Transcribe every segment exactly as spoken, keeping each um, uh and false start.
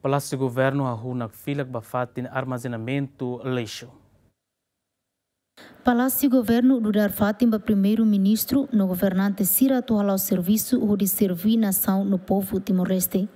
Palásiu Governu hahú nakfilak ba fatin armazenamentu lixu. Palásiu Governu dudar fatin ba Primeiru-Ministru no governante sira atu hala'o servisu hodi serví nasaun no povu Timor-Leste.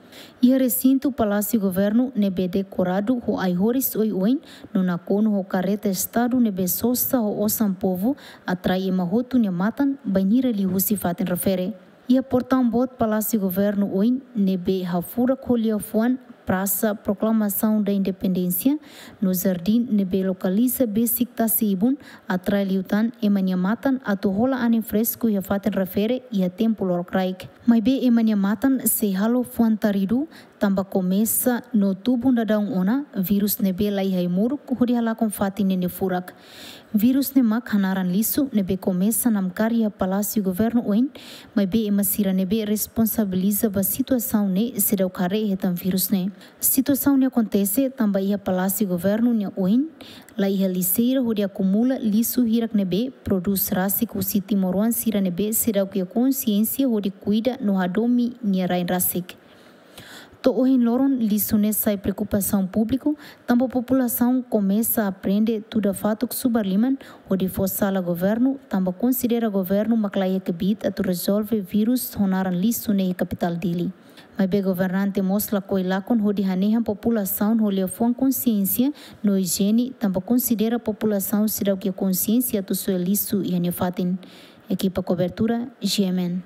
Iha resintu Palásiu Governu ne'ebé dekoradu ho ai-horis oioin no nakonu ho kareta Estadu ne'ebé sosa ho osan povu atrai ema hotu nia matan bainhira liuhusi fatin refere. Iha portaun boot Palásiu Governu oin ne'ebé hafurak ho liafuan Praça Proclamação da Independência no jardín ne'ebé lokaliza besik tasi-ibun atrai liután ema nia matan atu hola anin fresku iha fatin refere iha tempu lorokraik. Maibé ema nia matan sei halo fuan taridu tanba komesa no tubun daudaun ona virus ne'ebé laiha ai-moruk hodi halakon fatin ne'e nia furak. Virus ne'e mak hanaran lixu ne'ebé komesa namkari iha Palásiu Governu oin, maibé ema sira ne'ebé responsabiliza ba situasaun ne'e seidauk haree hetan virus ne'e. Situasaun ne'e akontese tanba iha Palásiu Governu nia oin laiha lixeira hodi akumula lixu hirak ne'ebé prodús rasik husi timoroan sira ne'ebé seidauk iha konsiénsia hodi kuida no hadomi nia rain rasik. To'o ohin loron lixu ne'e sai preokupasaun públiku, tanba populasaun komesa aprende tuda fatuk subar liman hodi fó sala governu, tanba konsidera governu mak laiha kbiit atu rezolve virus ho naran lixu ne'e iha kapitál Dili. Maibé governante mós lakohi lakon hodi hanehan populasaun ho liafuan konsiénsia no ijiene, tanba konsidera populasaun seidauk iha konsiénsia atu soe lixu iha nia fatin. Ekipa kobertura, G M N.